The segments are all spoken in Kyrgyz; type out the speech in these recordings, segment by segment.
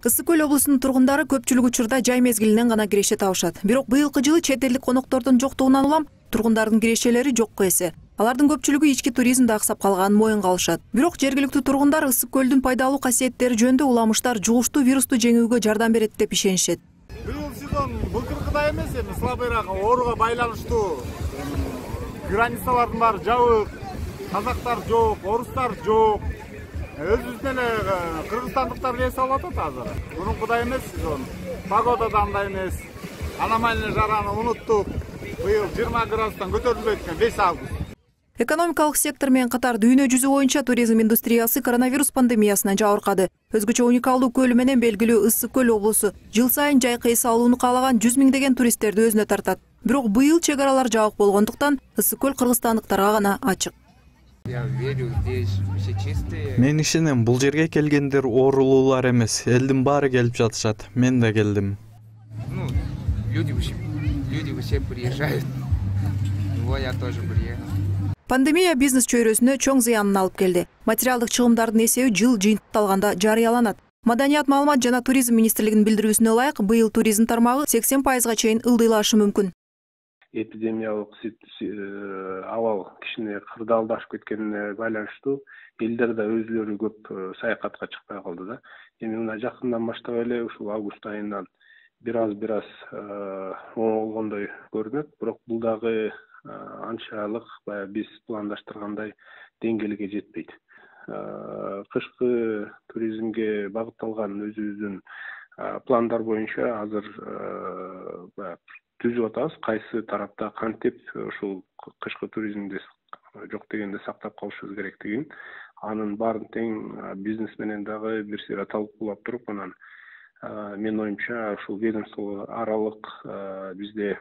Ысык Көл облусунун тургундары көпчүлүк учурда жай мезгилинен гана киреше табышат. Бирок быйылкы жылы чет элдик коноктордун жоктугунан улам тургундардын кирешелери жокко эсе. Алардын көпчүлүгү ички туризмде аксап калганын моюнга алышат. Бирок жергиликтүү тургундар Ысык Көлдүн пайдалуу касиеттери жөнүндө уламыштар жугуштуу вирусту жеңүүгө жардам берет деп ишенишет. Быйыл сезон былтыркыдай эмес, эми слабыйраак ооруга байланыштуу. Границалардын баары жабык, казактар жок, орустар жок. Өзүбүздөн эле кыргызстандыктар келип алып атат азыр. Мурункудай эмес сезон. Погода да андай эмес. Аномальный жараны унуттук. Быйыл 20 градустан көтөрүлбөйт экен 5 август. Экономикалык сектор менен катар дүйнө жүзү боюнча туризм индустриясы коронавирус пандемиясынан жабыркады. Өзгөчө уникалдуу көлү менен белгилүү Ысык Көл облусу жыл сайын жайкы эс алууну каалаган 100 миңдеген туристтерди өзүнө тартат. Бирок быйыл чек аралар жабык болгондуктан Ысык Көл кыргызстандыктарга гана ачык. Мен ишенем, бул жерге келгендер оорулуулар эмес, элдин баары келип жатышат. Мен да келдим. Люди все приезжают. Вот я тоже приехал. Пандемия бизнес чөйрөсүнө чоң зыянын алып келди. Материалдык чыгымдардын эсеби жыл жыйынтыкталганда жарыяланат. Маданият, маалымат жана туризм министрлигинин билдирүүсүнө ылайык, быйыл туризм тармагы 80%га чейин ылдыйлашы мүмкүн. Эпидемиялык абал кичине кырдаалдашып кеткенине байланыштуу элдер да өзүлөрү көп саякатка чыкпай калды да. Эми мына жакындан баштап эле ушул август айынан бир аз оңолгондой көрүнөт, бирок бул дагы анчалык биз пландаштыргандай деңгээлге жетпейт. Кышкы туризмге багытталган өзүбүздүн пландар боюнча азыр түзүп атабыз. Кайсы тарапта кантип ушул кышкы туризмди жок дегенде сактап калышыбыз керектигин, анын баарын тең бизнес менен дагы бир сыйра талкуулап туруп, анан менин оюмча ушул ведомство аралык бизде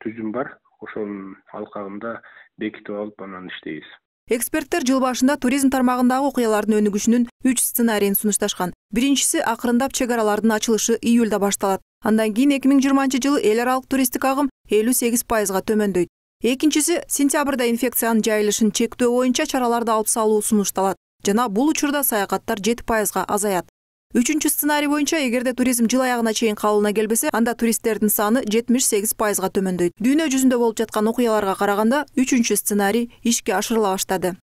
түзүм бар. Ошонун алкагында бекитип алып анан иштейбиз. Эксперттер жыл башында туризм тармагындагы окуялардын өнүгүшүнүн 3 сценарийин сунушташкан. Биринчиси акырындап чек аралардын ачылышы июлда башталат. Андан кийин 2020 эл аралык туристтик агым 58%га төмөндөйт. Экинчиси сентябрда инфекциянын жайылышын чектөө боюнча чараларды алып салуу сунушталат жана бул учурда саякаттар 7%га азаят. Үчүнчү сценарий боюнча эгерде туризм жыл аягына чейин калыбына келбесе, анда туристтердин саны 78%га төмөндөйт. Дүйнө жүзүндө болуп жаткан окуяларга караганда, үчүнчү сценарий ишке ашырыла баштады.